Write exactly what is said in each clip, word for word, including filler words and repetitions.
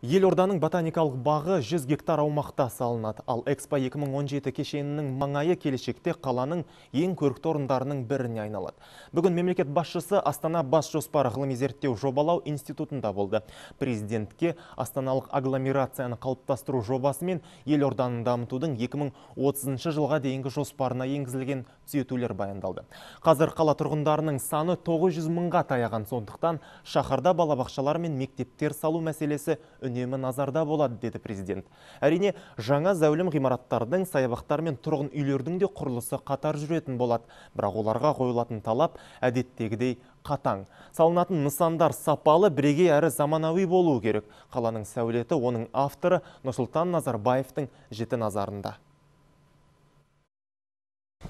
Елорданың ботаникалық бағы жүз гектар аумақта салынады. Ал Экспо екі мың он жеті кешенінің маңайы келешекте қаланың ең көрікті орындарының біріне айналады. Бүгін мемлекет басшысы Астана бас жоспары ғылыми зерттеу жобалау институтында болды. Президентке астаналық агломерацияны қалыптастыру жобасы мен елорданың дамытудың екі мың отызыншы жылға дейінгі жоспарына енгізілген түзетулер баяндалды. Қазір қала тұрғындарының саны тоғыз жүз мыңға таяған, сондықтан шаһарда балабақшалар мен мектептер салу мәселесі үнемі назарда болады, деді президент. Әрине, жаңа зәулім ғимараттардың, саябақтар мен тұрғын үйлердің де құрылысы қатар жүретін болады. Бірақ оларға қойылатын талап әдеттегідей қатаң. Салынатын нысандар сапалы, бірегей әрі заманауи болуы керек. Қаланың сәулеті оның авторы Нұрсұлтан Назарбаевтың жіті назарында.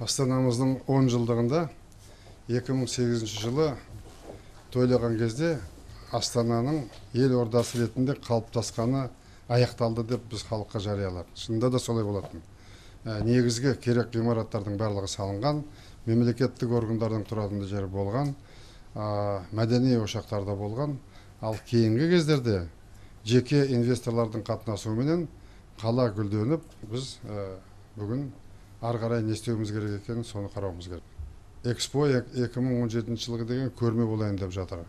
Астанамыздың он жылдығында екі мың сегізінші жылы тойлаған кезде Астананың ел ордасы ретінде қалыптасқаны аяқталды деп біз халыққа жарияладық. Шынында да солай болатын. Негізгі керек ғимараттардың барлығы салынған, мемлекеттік органдардың тұратын жері болған, мәдени ошақтарда болған. Ал кейінгі кездерде жеке инвесторлардың қатынасуыменен қала гүлденіп, біз бүгін ары қарай не істеуіміз керек екенін соны қарауымыз керек. Экспо екі мың он жетінші жылғы деген көрме болайын деп жатыр.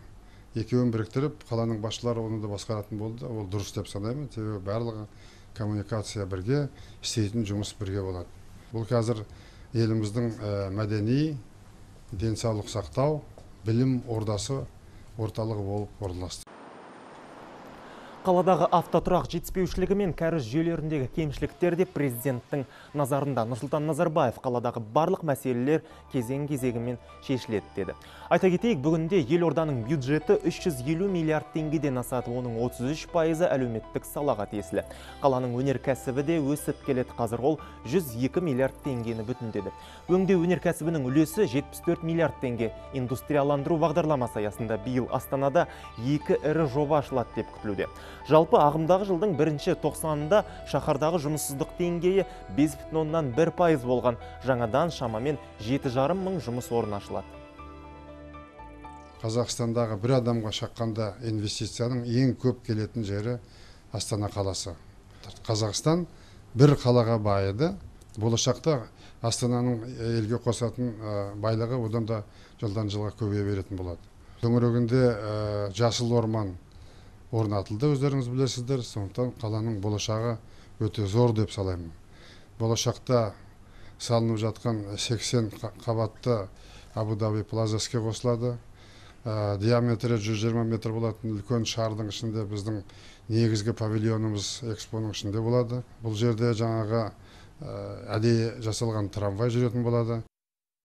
Екеуін біріктіріп, қаланың басшылары оны да басқаратын болды. Ол дұрыс деп санаймын. Себебі барлығы коммуникация бірге, істейтін жұмыс бірге болады. Бұл қазір еліміздің мәдени, денсаулық сақтау, білім ордасы орталығы болып орналасты. Қаладағы автотұрақ жетіспеушілігі мен кәріз жүйелеріндегі кемшіліктер де президенттің назарында. Нұрсұлтан Назарбаев қаладағы барлық мәселелер кезең-кезегімен шешіледі деді. Айта кетейік, бүгінде елорданың бюджеті үш жүз елу миллиард теңгеден асады, оның отыз үш пайызы әлеуметтік салаға тиесілі. Қаланың өнеркәсібі де өсіп келеді. Қазір ол жүз екі миллиард теңгені бүтіндеді. Өңдеу өнеркәсібінің үлесі жетпіс төрт миллиард теңге. Индустрияландыру бағдарламасы аясында биыл Астанада екі ірі жоба ашылады деп күтілуде. Жалпы ағымдағы жылдың бірінші тоқсанында шаһардағы жұмыссыздық деңгейі бес бүтін оннан бір пайыз болған. Жаңадан шамамен жеті жарым мың жұмыс орны ашылады. Қазақстандағы бір адамға шаққанда инвестицияның ең көп келетін жері Астана қаласы. Қазақстан бір қалаға байыды. Болашақта Астананың елге қосатын байлығы одан да жылдан жылға көбейе беретін болады. Төңірегінде жасыл орман орнатылды, өздеріңіз білесіздер. Сондықтан қаланың болашағы өте зор деп салаймын. Болашақта салынып жатқан сексен қабатты Абу-Даби плаза іске қосылады. Диаметрі жүз жиырма метр болатын үлкен шардың ішінде біздің негізгі павильонымыз экспоның ішінде болады. Бұл жерде жаңағы әдейі жасалған трамвай жүретін болады.